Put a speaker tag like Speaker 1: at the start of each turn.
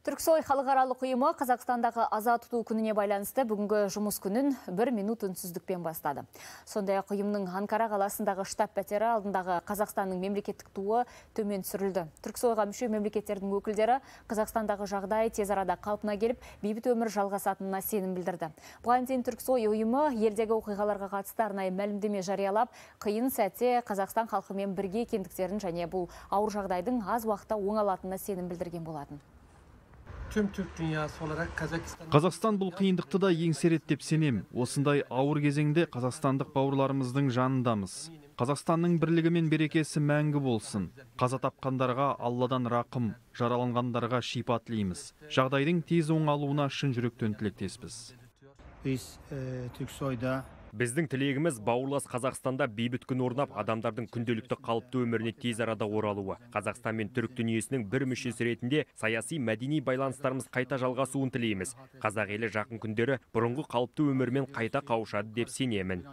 Speaker 1: Түрксой халықаралық ұйымы Қазақстандағы аза тұту күніне байланысты бүгінгі жұмыс күнін 1 минут үнсіздікпен бастады. Сондай-ақ ұйымның Анкара қаласындағы штаб пәтері алдындағы Қазақстанның мемлекеттік туы төмен түсірілді. Түрксойға мүше мемлекеттердің өкілдері Қазақстандағы жағдай тез арада қалпына келіп, бейбіт өмір жалғасатынына сенім білдірді. Бұған дейін Түрксой ұйымы елдегі оқиғаларға қатысты арнайы мәлімдеме жариялап, қиын сәтте Қазақстан халқымен бірге екендіктерін және бұл ауыр жағдайдың аз уақытта оңалатынына сенім білдірген болатын.
Speaker 2: Қазақстан бұл қиындықты да еңсереді деп сенем. Осындай ауыр кезеңде қазақстандық бауырларымыздың жанындамыз. Қазақстанның бірлігі мен берекесі мәңгі болсын. Қаза тапқандарға Алладан рақым, жараланғандарға шипа тілейміз. Жағдайдың тез оңалуына шын жүректен тілектеспіз.
Speaker 3: Біздің тілегіміз бауырлас Қазақстанда бейбіт күн орнап, адамдардың күнделікті қалыпты өміріне тез арада оралуы. Қазақстан мен түрік дүниесінің бір мүшесі ретінде саяси мәдени байланыстарымыз қайта жалғасуын тілейміз. Қазақ елі жақын күндері бұрынғы қалыпты өмірмен қайта қауышады деп сенемін.